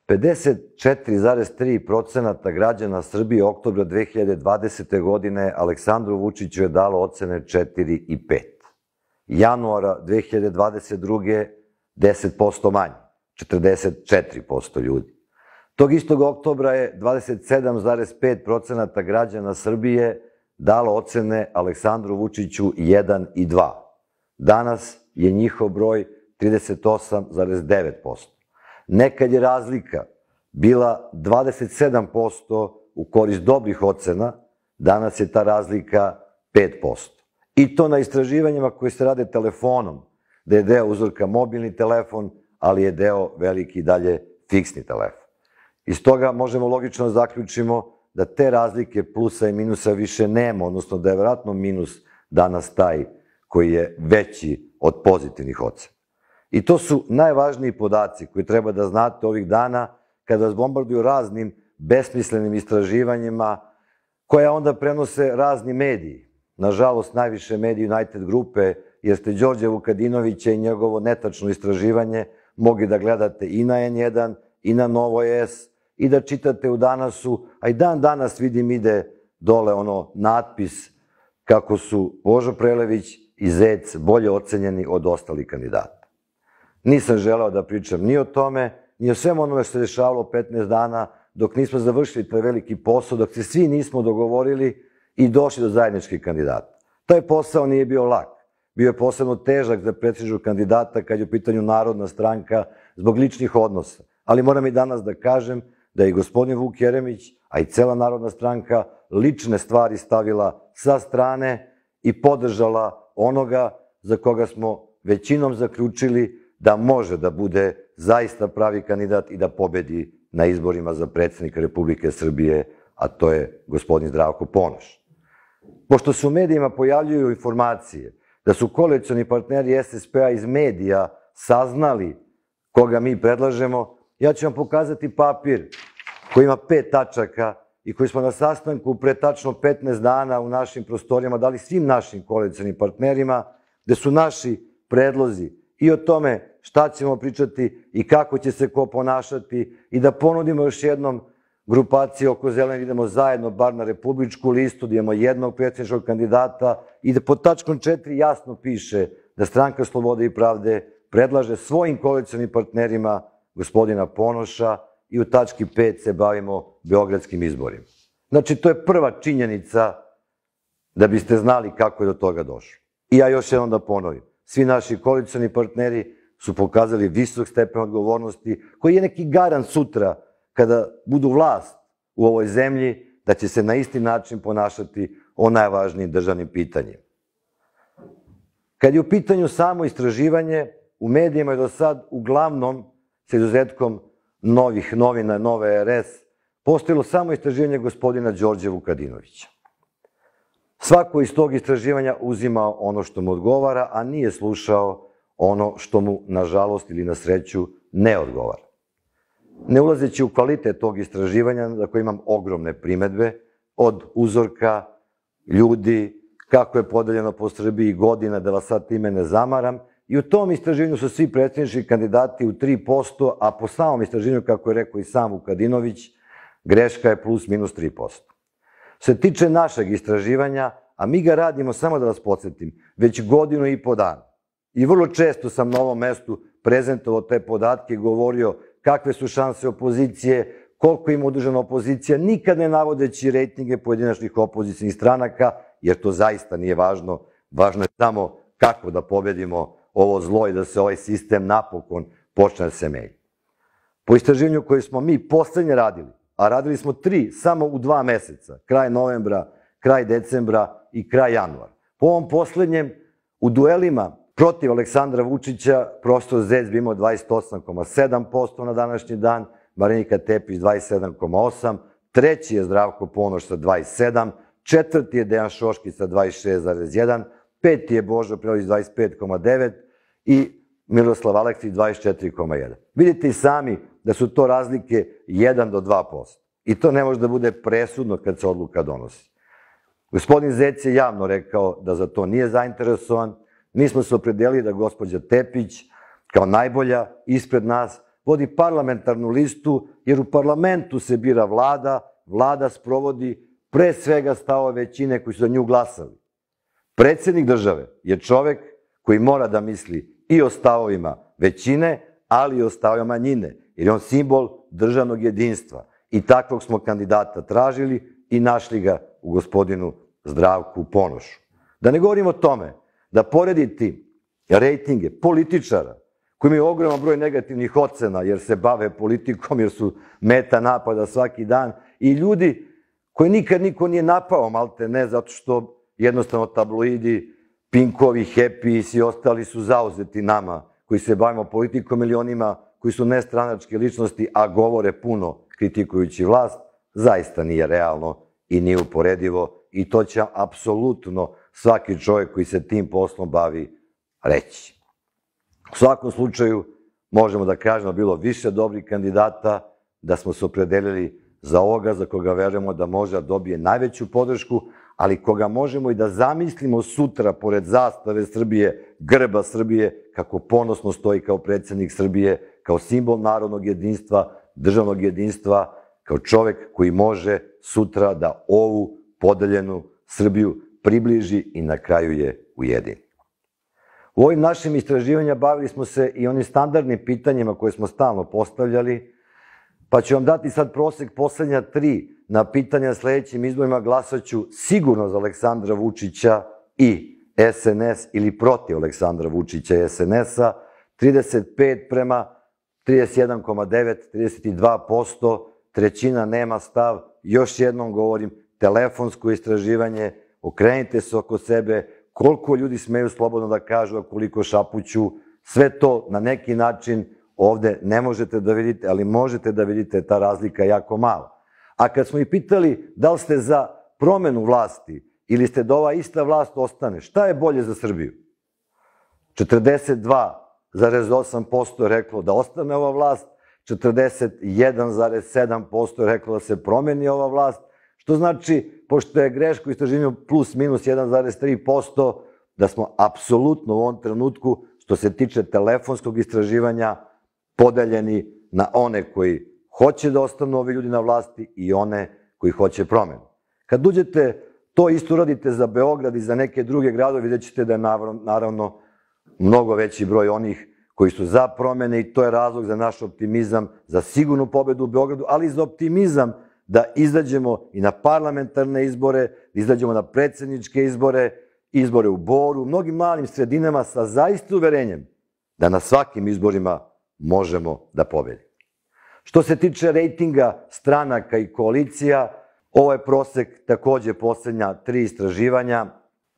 54,3% građana Srbije oktobra 2020. godine Aleksandru Vučiću je dalo ocene 4 i 5. Januara 2022. 10% manje, 44% ljudi. Tog istog oktobra je 27,5% građana Srbije dalo ocene Aleksandru Vučiću 1 i 2. Danas je njihov broj 38,9%. Nekad je razlika bila 27% u korist dobrih ocena, danas je ta razlika 5%. I to na istraživanjima koje se rade telefonom, da je deo uzorka mobilni telefon, ali je deo veliki dalje fiksni telefon. Iz toga možemo logično zaključimo da te razlike plusa i minusa više nema, odnosno da je vjerojatno minus danas taj koji je veći od pozitivnih ocena. I to su najvažniji podaci koji treba da znate ovih dana kada vas bombarduju raznim besmislenim istraživanjima koja onda prenose razni mediji. Nažalost, najviše mediji United grupe, jer ste Đorđa Vukadinovića i njegovo netačno istraživanje mogli da gledate i na N1, i na Novo S, i da čitate u Danasu, a i dan danas vidim ide dole ono natpis kako su Božo Prelević i Zec bolje ocenjeni od ostalih kandidata. Nisam želeo da pričam ni o tome, ni o svemu onome što se dešavalo 15 dana dok nismo završili taj veliki posao, dok se svi nismo dogovorili i došli do zajedničkih kandidata. Taj posao nije bio lak. Bio je posebno težak za predsedničkog kandidata kad je u pitanju Narodna stranka zbog ličnih odnosa. Ali moram i danas da kažem da je i gospodin Vuk Jeremić, a i cela Narodna stranka lične stvari stavila sa strane i podržala onoga za koga smo većinom zaključili da može da bude zaista pravi kandidat i da pobedi na izborima za predsednika Republike Srbije, a to je gospodin Zdravko Ponoš. Pošto se u medijima pojavljuju informacije da su koalicioni partneri SSP-a iz medija saznali koga mi predlažemo, ja ću vam pokazati papir koji ima 5 tačaka i koji smo na sastanku pre tačno 15 dana u našim prostorijama dali svim našim koalicionim partnerima, gde su naši predlozi i o tome šta ćemo pričati i kako će se ko ponašati i da ponudimo još jednom grupaciji oko Zelenih, idemo zajedno bar na republičku listu, da imamo jednog predsjedničkog kandidata i da pod tačkom 4 jasno piše da Stranka slobode i pravde predlaže svojim koalicionim partnerima gospodina Ponoša i u tački 5 se bavimo beogradskim izborima. Znači, to je prva činjenica da biste znali kako je do toga došlo. I ja još jednom da ponovim, svi naši koalicioni partneri su pokazali visok stepen odgovornosti koji je neki garant sutra kada budu vlast u ovoj zemlji, da će se na isti način ponašati o najvažnijim državnim pitanjima. Kad je u pitanju samo istraživanje, u medijima je do sad uglavnom, sa izuzetkom novih novina, Nove RS, postojilo samo istraživanje gospodina Đorđa Vukadinovića. Svako iz tog istraživanja uzima ono što mu odgovara, a nije slušao ono što mu, nažalost ili na sreću, ne odgovara. Ne ulazeći u kvalitet tog istraživanja, za koje imam ogromne primedbe, od uzorka, ljudi, kako je podeljeno po Srbiji godina, da vas sad time ne zamaram, i u tom istraživanju su svi predsjednički kandidati u 3%, a po samom istraživanju, kako je rekao i sam Vukadinović, greška je plus minus 3%. Što se tiče našeg istraživanja, a mi ga radimo, samo da vas podsjetim, već godinu i po dana. I vrlo često sam na ovom mestu prezentovao te podatke i govorio kakve su šanse opozicije, koliko ima udružena opozicija, nikad ne navodeći rejtinge pojedinačnih opozicijnih stranaka, jer to zaista nije važno. Važno je samo kako da pobedimo ovo zlo i da se ovaj sistem napokon počne da se menja. Po istraživanju koje smo mi poslednje radili, a radili smo 3 samo u 2 meseca, kraj novembra, kraj decembra i kraj januara. Po ovom poslednjem, u duelima protiv Aleksandra Vučića, profesor Zec bi imao 28,7% na današnji dan, Marinika Tepić 27,8%, treći je Zdravko Ponoš sa 27%, četvrti je Dejan Šoškić sa 26,1%, peti je Božo Prelević 25,9% i Miroslav Aleksić 24,1%. Vidite i sami da su to razlike 1 do 2%. I to ne može da bude presudno kad se odluka donosi. Gospodin Zec je javno rekao da za to nije zainteresovan. Mi smo se opredelili da gospođa Tepić, kao najbolja ispred nas, vodi parlamentarnu listu, jer u parlamentu se bira vlada, vlada sprovodi pre svega stavove većine koji su za nju glasali. Predsednik države je čovek koji mora da misli i o stavovima većine, ali i o stavovima manjine, jer je on simbol državnog jedinstva. I takvog smo kandidata tražili i našli ga u gospodinu Zdravku Ponošu. Da ne govorim o tome da poredi rejtinge političara koji imaju ogroman broj negativnih ocena jer se bave politikom, jer su meta napada svaki dan, i ljudi koji nikad niko nije napao, malte ne, zato što jednostavno tabloidi, Pinkovi, Happy i svi ostali su zauzeti nama koji se bavimo politikom ili onima koji su nestranačke ličnosti, a govore puno kritikujući vlast, zaista nije realno i nije uporedivo, i to će apsolutno svaki čovjek koji se tim poslom bavi reći. U svakom slučaju, možemo da kažemo da je bilo više dobrih kandidata, da smo se opredelili za ovoga za koga verujemo da može da dobije najveću podršku, ali koga možemo i da zamislimo sutra pored zastave Srbije, grba Srbije, kako ponosno stoji kao predsednik Srbije, kao simbol narodnog jedinstva, državnog jedinstva, kao čovek koji može sutra da ovu podeljenu Srbiju približi i na kraju je ujedini. U ovim našim istraživanjima bavili smo se i onim standardnim pitanjima koje smo stalno postavljali, pa ću vam dati sad prosek poslednja 3 na pitanja na sledećim izborima. Glasaću sigurno za Aleksandra Vučića i SNS ili protiv Aleksandra Vučića i SNS-a, 35 prema 31,9, 32%, trećina nema stav. Još jednom govorim, telefonsko istraživanje, okrenite se oko sebe, koliko ljudi smeju slobodno da kažu, a koliko šapuću, sve to na neki način ovde ne možete da vidite, ali možete da vidite, ta razlika je jako mala. A kad smo ih pitali da li ste za promenu vlasti ili ste da ova ista vlast ostane, šta je bolje za Srbiju? 42,8% je reklo da ostane ova vlast, 41,7% je reklo da se promeni ova vlast, što znači, pošto je greško istraživanju plus minus 1,3%, da smo apsolutno u ovom trenutku, što se tiče telefonskog istraživanja, podeljeni na one koji hoće da ostanu ovi ljudi na vlasti i one koji hoće promenu. Kad uđete, to isto uradite za Beograd i za neke druge gradove, vidjet ćete da je naravno mnogo veći broj onih koji su za promene, i to je razlog za naš optimizam, za sigurnu pobedu u Beogradu, ali i za optimizam da izađemo i na parlamentarne izbore, da izađemo na predsedničke izbore, izbore u Boru, u mnogim malim sredinama, sa zaista uverenjem da na svakim izborima možemo da pobedimo. Što se tiče rejtinga stranaka i koalicija, ovo je prosek takođe poslednja 3 istraživanja.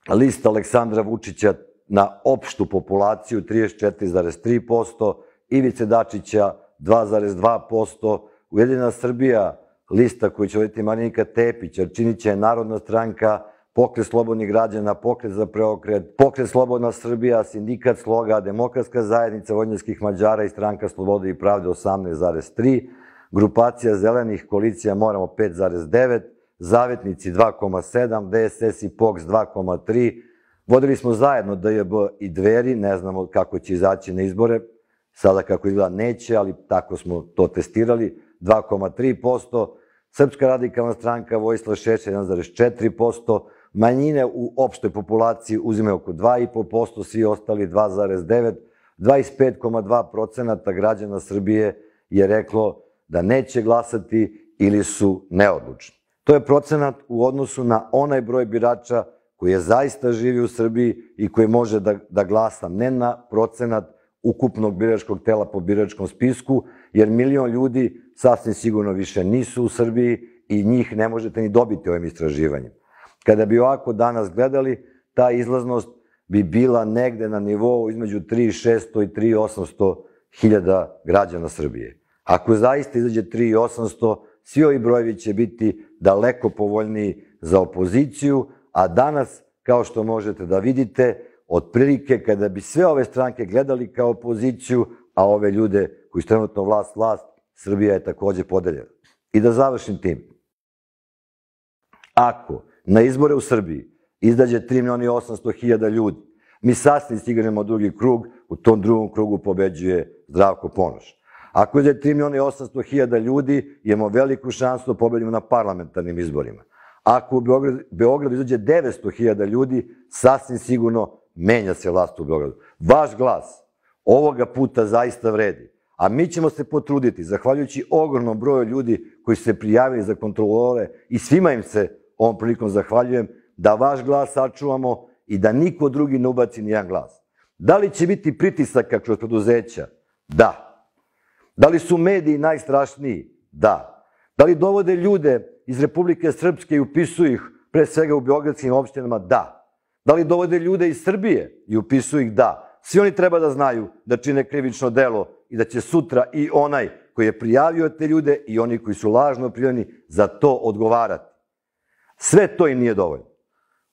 Lista Aleksandra Vučića na opštu populaciju 34,3%, Ivice Dačića 2,2%, Ujedinjena Srbija, lista koju će voditi Marinika Tepić, Arčinića je Narodna stranka, Pokret slobodnih građana, Pokret za preokret, Pokret Slobodna Srbija, Sindikat Sloga, Demokratska zajednica vojvođanskih Mađara i Stranka slobode i pravde 18,3%, Grupacija zelenih, Koalicija Moramo 5,9%, Zavetnici 2,7%, DSS i POKS 2,3%. Vodili smo zajedno DJB i Dveri, ne znamo kako će izaći na izbore, sada kako izgleda neće, ali tako smo to testirali, 2,3%, Srpska radikalna stranka Vojislav Šešelj 1,4%, manjine u opštoj populaciji uzimaju oko 2,5%, svi ostali 2,9%, 25,2% građana Srbije je reklo da neće glasati ili su neodlučni. To je procenat u odnosu na onaj broj birača koji je zaista živi u Srbiji i koji može da glasa, ne na procenat ukupnog biračkog tela po biračkom spisku, jer 1 milion ljudi sasvim sigurno više nisu u Srbiji i njih ne možete ni dobiti ovim istraživanjem. Kada bi ovako danas gledali, ta izlaznost bi bila negde na nivou između 3.600 i 3.800 hiljada građana Srbije. Ako zaista izađe 3.800, svi ovi brojevi će biti daleko povoljniji za opoziciju, a danas, kao što možete da vidite, otprilike kada bi sve ove stranke gledali kao opoziciju, a ove ljude koji su trenutno vlast, Srbija je takođe podeljena. I da završim tim. Ako na izbore u Srbiji izađe 3.800.000 ljudi, mi sasvim stignemo drugi krug, u tom drugom krugu pobeđuje Zdravko Ponoš. Ako je 3.800.000 ljudi, imamo veliku šansu da pobedimo na parlamentarnim izborima. Ako u Beogradu izađe 900.000 ljudi, sasvim sigurno menja se vlast u Beogradu. Vaš glas ovoga puta zaista vredi. A mi ćemo se potruditi, zahvaljujući ogromnom broju ljudi koji su se prijavili za kontrolore i svima im se ovom prilikom zahvaljujem, da vaš glas sačuvamo i da niko drugi ne ubaci nijedan glas. Da li će biti pritisaka kroz preduzeća? Da. Da li su mediji najstrašniji? Da. Da li dovode ljude iz Republike Srpske i upisuju ih pre svega u beogradskim opštinama? Da. Da li dovode ljude iz Srbije i upisuju ih? Da. Svi oni treba da znaju da čine krivično delo i da će sutra i onaj koji je prijavio te ljude i oni koji su lažno prijavljeni za to odgovarati. Sve to im nije dovoljno.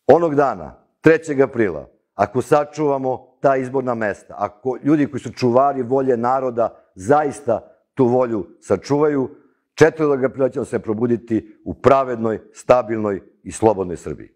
Onog dana, 3. aprila, ako sačuvamo ta izborna mesta, ako ljudi koji su čuvari volje naroda zaista tu volju sačuvaju, 4. aprila ćemo se probuditi u pravednoj, stabilnoj i slobodnoj Srbiji.